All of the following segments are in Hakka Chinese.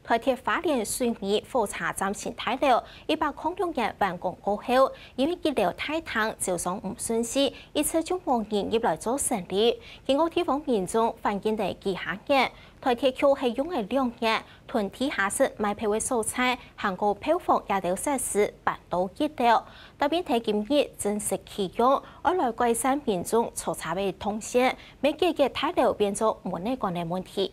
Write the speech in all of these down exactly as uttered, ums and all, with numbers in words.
台鐵花蓮水湄火車站新大樓一百空六年完工過後，因為一樓大廳招商毋順序，一直就無人入來做生理。經過地方民眾反映了幾下年，台鐵局係用了兩年，同地下室賣票个所在，還過票房這兜設施搬到一樓。搭配到今日正式啟用，愛來改善民眾坐車个動線，乜解決大樓變做捫仔管个問題。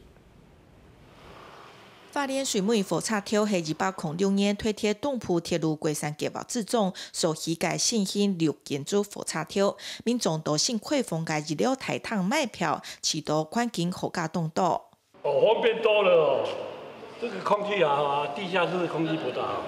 花蓮水湄火車頭係一百空六年台鐵東部鐵路改善計畫之中所起个新型綠建築火車頭，民眾到新開放个一樓大廳買票，試著環境好加當多。哦，方便多了哦，這個空氣好啊，地下室空氣不大好。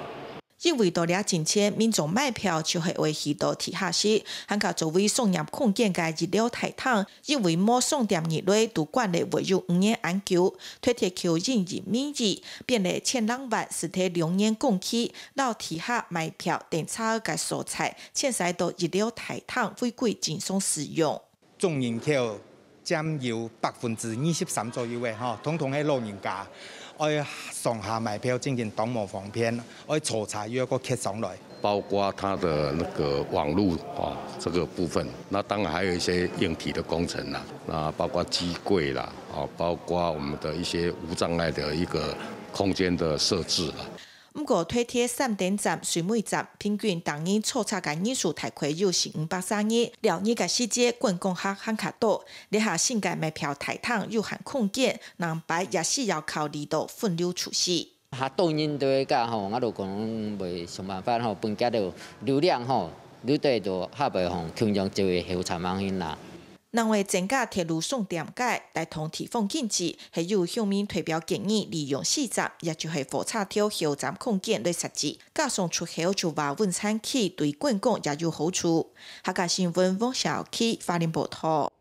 因為到這進前，民眾買票就係愛去到地下室，還較作為商業空間个一樓大廳，因為無商店入來，都關了會有五年恁久。台鐵舊營運名義，變了千零萬使得兩年工期，摎地下買票等車个所在，遷徙到一樓大廳違規經商使用。 總人口佔有百分之二十三左右个吼，統統係老人家，愛上下買票正經當無方便，愛坐車又愛過蹶上來。包括它的那個網路啊，這個部分，那當然還有一些硬體的工程啦，那包括機櫃啦，啊，包括我們的一些無障礙的一個空間的設置啦。 毋過，台鐵三等站、水湄站平均逐日坐車个人數大概有四五百儕人，尞日个時節，觀光客還較多。這下新个買票大廳有限空間，南北也需要考慮到分流出去。較多人都會甲吼，我就講會想辦法吼，分較多流量吼，愈多就較袂吼，共樣就會後站樣形啦。 另外，增加鐵路商店街，帶動地方經濟，係有鄉民代表建議利用四站，也就係火車頭後站空間來設置，加上出口就話文山區對觀光也有好處。客家新聞黃小琪，花蓮報導。